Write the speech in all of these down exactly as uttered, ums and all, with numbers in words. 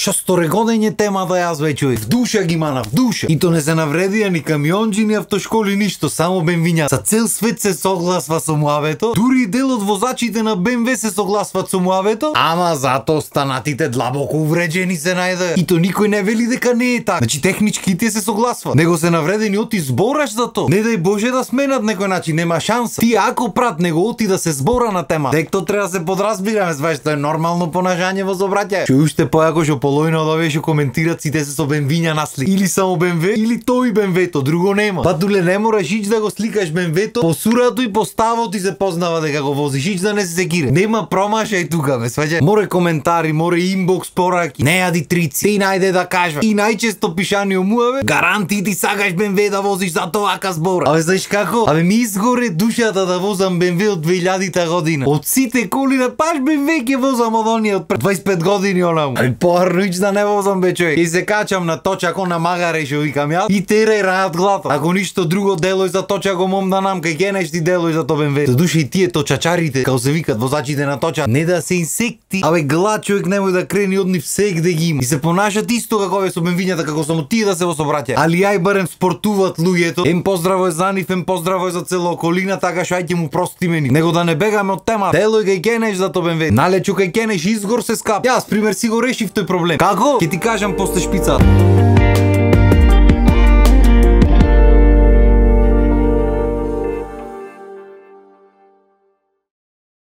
Што сторегодење тема да јас веќе в душа ги мана, в душа. И то не се навредија ни камионџи, ни автошколи, ништо, само бенвиња. За цел свет се согласва со муавето, дури и дел од возачите на Бе Ем Ве се согласват со муавето, ама зато останатите длабоко увреđени се најде. И то никој не вели дека не е така. Значи технички тие се согласват. Него се навредени оти збораш за то. Не дај Боже да сменат некој начин, нема шанса. Ти ако прат него оти да се збора на тема, дек то треба да се подразбираме, знаеш, тоа е нормално понажање во собраќај. Што уште појако што полојно од овие што коментират сите се со бенвиња на слик. Или само Бе Ем Ве, или тој Бе Ем Ве-то, друго нема. Па дуле не мораш ич да го сликаш Бе Ем Ве-то, по сурато и по ставот ти се познава дека го возиш, ич да не се секире. Нема промашај тука, ме сваќа. Море коментари, море инбокс пораки. Не јади трици. Ти најде да кажа. И најчесто пишани муаве, гаранти ти сакаш Бе Ем Ве да возиш за тоа вака збор. Абе знаеш како? Абе ми изгоре душата да возам Бе Ем Ве од две илјадита година. Од сите коли на паш Бе Ем Ве ќе возам од оние од дваесет и пет години онаму. Абе поарно ич да не возам бе човек. И се качам на точако на магаре што викам јас и терај рајат глата. Ако ништо друго делој за точако мом да нам кај генеш ти делој за то Бе Ем Ве. За душа и тие точачарите, како се викат возачите на точа, не да се инсекти. Абе глад човек немој да крени од нив сегде ги има. И се понашат исто како овие со Бе Ем Вињата, како само тие да се во собраќај. Али ај барем спортуваат луѓето. Ем поздраво е за нив, ем поздраво е за цела околина, така што ајде му простиме ни. Него да не бегаме од тема. Делој кај генеш за то Бе Ем Ве. Налечу кај генеш изгор се скап. Јас пример си го решив тој проблем. Како? Ќе ти кажам после шпицата.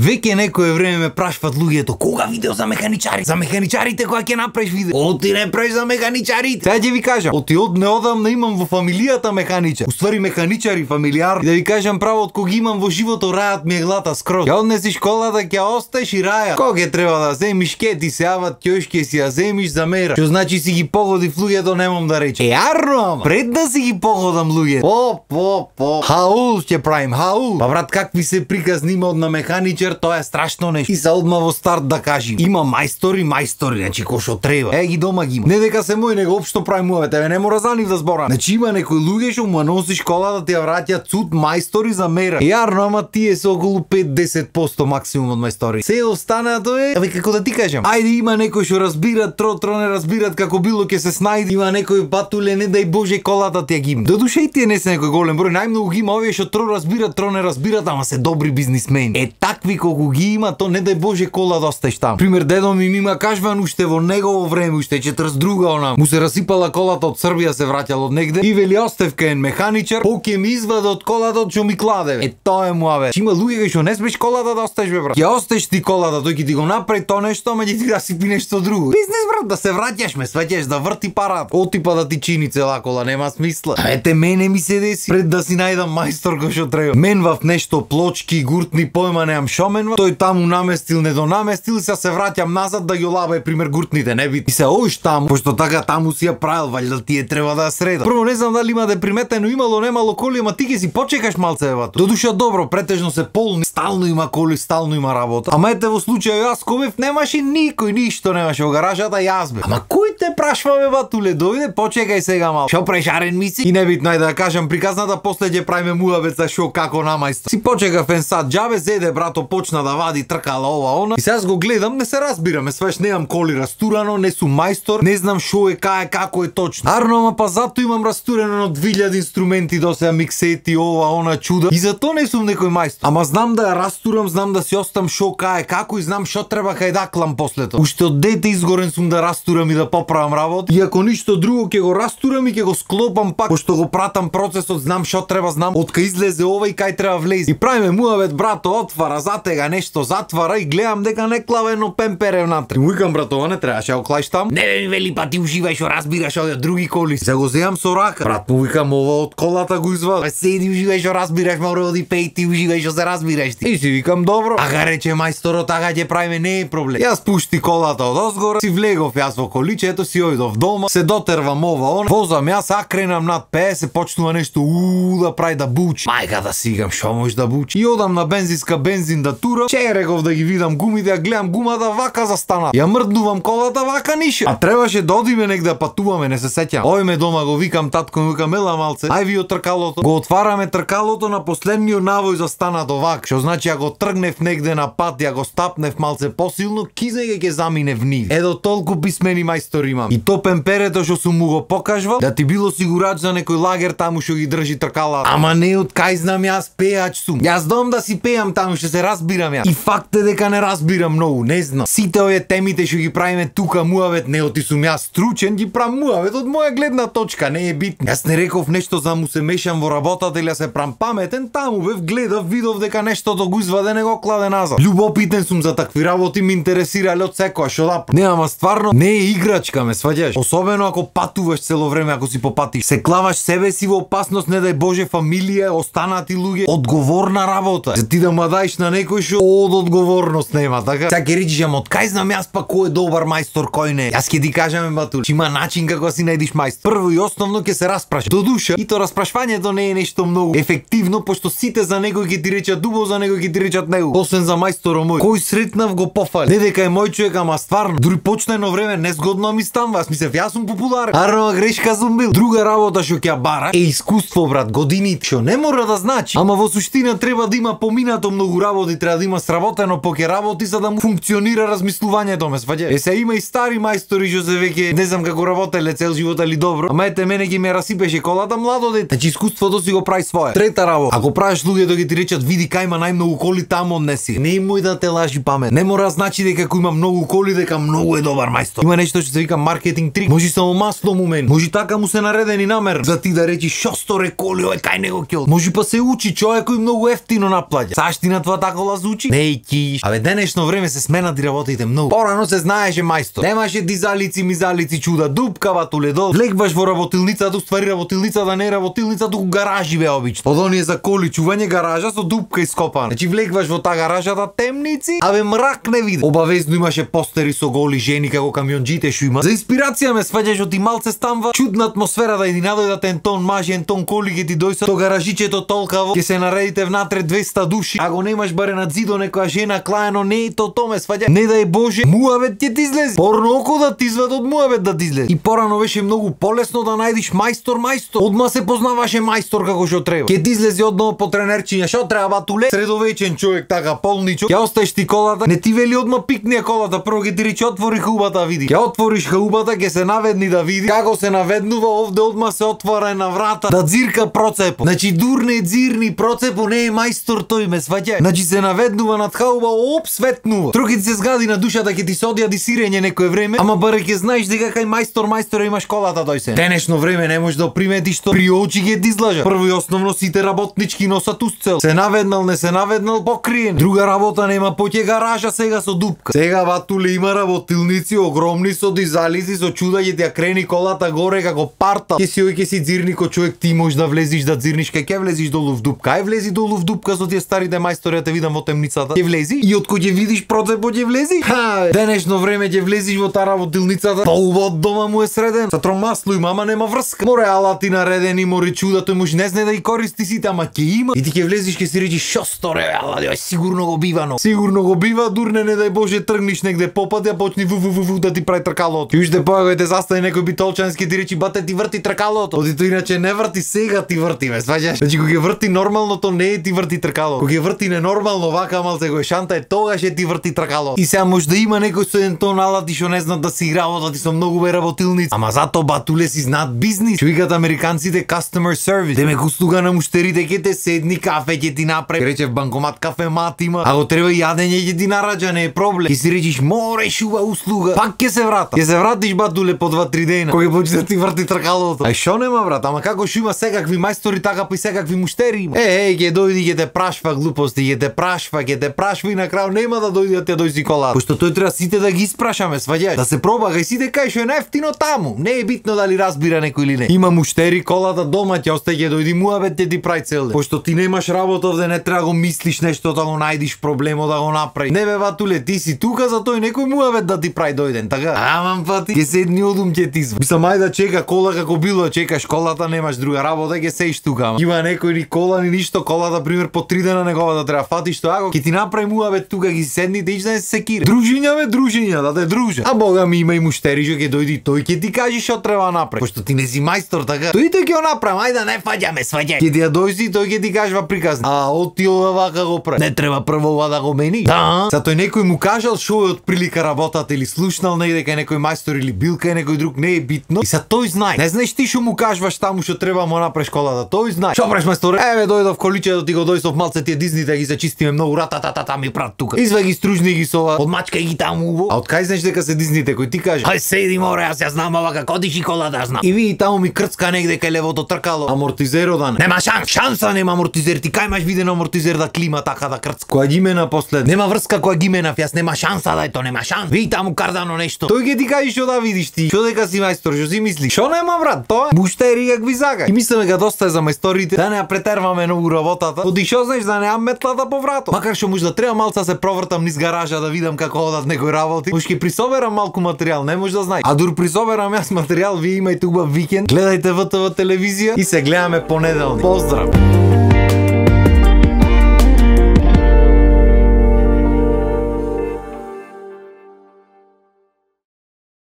Веќе некое време ме прашват луѓето кога видео за механичари. За механичарите кога ќе направиш видео. Оти не правиш за механичарите. Сега ќе ви кажам, оти од неодамна имам во фамилијата механичар. Уствари механичари фамилијар. И да ви кажам право, од кога имам во живото рајат ми е глата скроз. Ја однеси школата, ќе остеш и раја. Кога ќе треба да земиш, ке ти се јават ќојшке си ја земиш за мера. Што значи си ги погодив луѓето, немам да речем. Е арно, пред да си ги погодам луѓето. По, по, по. Хаул ќе правим, хаул. Па брат, какви се приказни има од на механичар, тоа е страшно нешто. И за одма во старт да кажи, има мајстори, мајстори, значи кој што треба. Е ги дома ги има. Не дека се мој, него општо прави муаве, тебе не мора за нив да зборам. Значи има некои луѓе што му носи школа да ти ја враќаат цуд мајстори за мера. Јарно, ама тие се околу пет до десет поsto максимум од мајстори. Се останато е, абе како да ти кажам. Ајде има некои што разбират, тро тро не разбират, како било ќе се снајде. Има некои батуле, не дај Боже колата ти ја ги има. До душа и тие не се некој голем број, најмногу ги има овие што тро разбират, тро не разбират, ама се добри бизнисмени. Е такви колку ги има, то не дај Боже кола да остеш таму. Пример, дедо ми има кажван уште во негово време, уште четрдесет и друга она. Му се расипала колата од Србија, се враќал од негде и вели остев кај механичар, по ќе ми изваде од колата што ми кладе. Е тоа е муаве. Има луѓе што не смеш колата да остеш бе брат. Ќе остеш ти колата, тој ќе ти го направи тоа нешто, ама ќе ти расипи нешто друго. Бизнес брат, да се враќаш ме, сваќаш да врти парат. Отипа да ти чини цела кола, нема смисла. Ете мене ми се деси пред да си најдам мајстор кој што треба. Менвав нешто плочки, гуртни, појма немам шо менвав. Тој таму наместил, не донаместил, се се враќам назад да ги олабај пример гуртните, не би. И се ош таму, пошто така таму си ја правил, валјда тие треба да среда. Прво не знам дали има да е приметено, имало немало коли, ама ти ќе си почекаш малце евато. До душа добро, претежно се полни, стално има коли, стално има работа. Ама ете во случај јас ковев немаше никој, ништо немаше во гаражата, јас бе. Ама кој те прашва бе батуле, дојде, почекај сега мал. Шо прешарен миси? И небитно ајде да кажам приказната, после ќе правиме муавет за шо како на мајстор. Си почекав еден сат џабе, зеде брато почна да вади, тркала ова она. И сега го гледам, не се разбираме, свеш немам коли растурано, не сум мајстор, не знам шо е, кај е, како е точно. Арно, ама па зато имам растурено на две илјади инструменти до сега, миксети, ова, она, чуда. И зато не сум некој мајстор. Ама знам да ја растурам, знам да си остам шо, кај е, како и знам шо треба кај даклам после тоа. Уште од дете изгорен сум да растурам и да поправам работа. И ако ништо друго ќе го растурам и ќе го склопам пак, пошто го пратам процесот, знам шо треба, знам од кај излезе ова и кај треба влезе. И правиме муавет брато, отвара, затега нешто, затвара и гледам дека не клава едно пемпере внатре. Му викам брато, ова не требаше да клаиш таму. Не ми вели па ти уживај што разбираш од други коли. Се го земам со рака. Брат му викам ова од колата го извади. Седи уживај што разбираш, мора оди пеј ти уживај што се разбираш ти. И си викам добро. Ага рече мајсторот, ага ќе правиме, не е проблем. Јас пушти колата од озгора, си влегов јас во количето, си ојдов дома, се дотервам ова она. Возам јас, акренам над пеесет, почнува нешто уу да прави да бучи. Мајка да сигам што може да бучи. И одам на бензинска бензин да турам. Череков да ги видам гумите, ја гледам гумата вака застана. Ја мрднувам колата вака нише. А требаше да одиме негде патуваме, не се сеќам. Ојме дома го викам татко, ми викам ела малце. Ај ви од тркалото. Го отвараме тркалото на последниот навој застана до вак. Што значи ја го тргнев негде на пат, ја го стапнев малце посилно, кизе ќе замине в нив. Едо толку писмени мајстори мајстор имам. И то пемперето што сум му го покажувал, да ти било сигурач за некој лагер таму што ги држи тркала. Ама не од кај знам јас пеач сум. Јас дом да си пеам таму, што се разбирам јас. И факт е дека не разбирам многу, не знам. Сите овие темите што ги правиме тука муавет, не оти сум јас стручен, ги правам муавет од моја гледна точка, не е битно. Јас не реков нешто за му се мешам во работата или се прам паметен, таму бев гледав, видов дека нештото го изваде, не го кладе назад. Љубопитен сум за такви работи, ми интересирале од секоја што да. Не, ама стварно не е играчка, ме сваѓаш. Особено ако патуваш цело време, ако си попатиш. Се клаваш себе си во опасност, не дај Боже фамилија, останати луѓе, одговорна работа. За ти да ма даиш на некој што од одговорност нема, така? Сега ќе речиш, ама од кај знам јас па кој е добар мајстор, кој не? Јас ќе ти кажам, батур, има начин како си најдиш мајстор. Прво и основно ќе се распраш. До душа, и то распрашвањето не е нешто многу ефективно, пошто сите за некој ќе ти речат дубо, за некој ќе ти речат него. Освен за мајсторот мој, кој сретнав го пофали. Не дека е мој човек, ама стварно, дури почна едно време незгодно ми станува. Јас мислев, јас сум популарен. Арно грешка сум бил. Друга работа што ќе бара е искуство, брат, години, што не мора да значи. Ама во суштина треба да има поминато многу работи, треба да има сработено поке работи за да му функционира размислувањето, ме сваѓа. Е се има и стари мајстори што се веќе не знам како работеле цел живот али добро. Ама ете мене ги ме расипеше колата младо дете. Значи искуството си го прави свое. Трета работа. Ако правиш луѓето ги ти речат види кај има најмногу коли таму однеси. Не имој да те лажи памет. Не мора значи дека ако има многу коли дека многу е добар мајстор. Има нешто што се вика маркетинг трик. Може само масло му мен. Може така му се наредени намер за ти да речиш шосторе коли ој кај него ќе. Може па се учи човек кој многу ефтино наплаќа. Саштина тоа така лазучи? Не ки. Абе денешно време се сменати работите многу. Порано се знаеше мајстор. Немаше дизалици, мизалици, чуда, дупка ватуле до. Влегваш во работилницата, уствари работилницата не е работилница, туку гаражи бе обично. Под оние за коли чување гаража со дупка ископана. Значи влегваш во таа гаражата темници, абе мрак не види. Обавезно имаше постери со голи жени како камионџите што има. За инспирација ме сваѓаш од и малце станва чудна атмосфера да иди надојдат ентон мажи, ентон коли ќе ти дојса то гаражичето толкаво, ќе се наредите внатре двеста души. Ако немаш баре над зидо некоја жена клаено, не е то то ме сваѓа. Не дај Боже, муавет ќе ти излезе. Порно око да ти извад од муавет да ти излезе. И порано беше многу полесно да најдиш мајстор мајстор. Одма се познаваше мајстор како што треба. Ќе ти излезе одно по тренерчиња, што треба батуле? Средовечен човек така полничок. Ќе оставиш ти колата, не ти вели одма пикни колата, прво ќе ти рече отвори хаубата види. Ќе отвориш хаубата, ќе се наведни да види како се наведнува, овде одма се отвора една врата да дзирка процепо. Значи дурне дзирни процепо не е мајстор тој, ме сваќај. Значи се наведнува над хауба, оп светнува. Троки ти се згади на душата, ќе ти се одјади сирење некое време, ама баре ќе знаеш дека кај мајстор мајстор имаш колата тој се. Денешно време не можеш да приметиш што при очи ќе ти излажа. Прво и основно сите работнички носат устцел. Се наведнал, не се наведнал, покриен. Друга работа нема, поќе гаража сега со дупка. Сега ватуле има работилници огромни со дизалици, со чуда ќе ти ја крени колата горе како парта. Ќе си ој ќе си дзирни ко човек, ти можеш да влезиш да дзирниш, кај ќе влезиш долу в дупка. Ај влези долу в дупка со тие старите мајстори, те видам во темницата. Ќе влези и од кој ќе видиш процепот ќе влези. Ха, денешно време ќе влезиш во таа работилницата. Полува од дома му е среден. Со тромасло има, ама нема врска. Море алати наредени, море чуда, тој може не знае да ги користи сите, ама ќе има. И ти ќе влезиш, ќе си речиш шо сторе, алади, ај сигурно го бива, но. Сигурно го бива, дурне не дај Боже тргниш негде попади, а почни ву ву ву ву да ти прави тркалото. Уште појаго те застави некој битолчански ти речи бате ти врти тркалото. Оди тоа иначе не врти, сега ти врти, ме сваѓаш. Значи кога ќе врти нормално, то не е ти врти тркалото. Кога ќе врти ненормално, вака малце го шанта е тогаш е ти врти тркалото. И сега може да има некој со еден тон алати што не знаат да си работат и со многу бе работилници. Ама затоа батуле си знаат бизнис. Што викаат американците customer service. Те ме услуга на муштерите ќе те седни кафе ќе ти направи. Рече в банкомат кафе мат има. Ако треба јадење ќе ти нараѓа, не е проблем. Ќе си речиш море шуба услуга. Пак ќе се врата. Ќе се вратиш батуле по два-три дена. Кога ќе почне да ти врти тркалото. Ај шо нема брат, ама како што има секакви мајстори така па и секакви муштери има. Е, е, ќе дојди ќе те прашва глупости, ќе те прашва, ќе те прашва и на крај нема да дојде да те дојси колата. Пошто тој треба сите да ги испрашаме, сваѓаш. Да се проба кај сите кај што е најефтино таму. Не е битно дали разбира некој или не. Има муштери колата дома ќе остај ќе дојди муабет ќе ти прави цел ден. Пошто ти немаш работа овде, не треба го мислиш нешто да го најдиш проблемо да го направи. Не бе ватуле, ти си тука за тој некој муабет да ти прави дојден, така? Аман пати ќе седни одум ќе ти изва. Мислам ајде да чека кола како било, чекаш колата, немаш друга работа, ќе сеиш тука. Има некој ни кола ни ништо, колата пример по три дена негова да треба фатиш тоа, ако ќе ти направи муабет тука ги седните ич да не се секира. Дружиња бе, дружиња, да те дружат. А бога ми има и муштери што ќе дојди, тој ќе ти каже што треба направи. Пошто ти не си мајстор, така? Тој ќе го направи, ајде не фаќаме, сваѓај. Ќе ти ја дојди, тој ќе ти кажува приказна. А оти ова вака го прави. Не треба прво ова да го мени. Да. За тој некој му кажал што е од прилика работата или слушнал негде кај некој мајстор или бил кај некој друг, не е битно. И са тој знае. Не знаеш ти што му кажуваш таму што треба му направиш колата. Тој знае. Што правиш мајстор? Еве дојдов количе да ти го дојсов малце тие дизните ги се чистиме многу рататата ми прат тука. Извај ги стружни ги со подмачкај ги таму. А од кај знаеш дека се дизните кој ти каже? Хај седи море, јас ја знам ова како диши колата, ја знам. И ви таму ми крцка негде кај левото тркало. Амортизеро да не. Нема шанс, шанса нема амортизер. Ти кај имаш виден амортизер да клима така да крцка. Која ги мена послед. Нема врска која ги менав, јас нема шанса да е то, нема шанс. Ви таму кардано нешто. Тој ќе ти каже што да видиш ти. Што дека си мајстор, што си мислиш? Што нема брат, тоа? Буштери как ви сака. И мислиме дека доста е за мајсторите, да не ја претерваме многу работата. Оди што знаеш да неам метлата по вратот. Макар што може да треба малца се провртам низ гаража да видам како одат некои работи. Може ќе присоберам малку материјал, не може да знаеш. А дур присоберам јас материјал, вие имајте убав викенд. Гледајте ВТВ телевизија и се гледаме понеделник. Поздрав.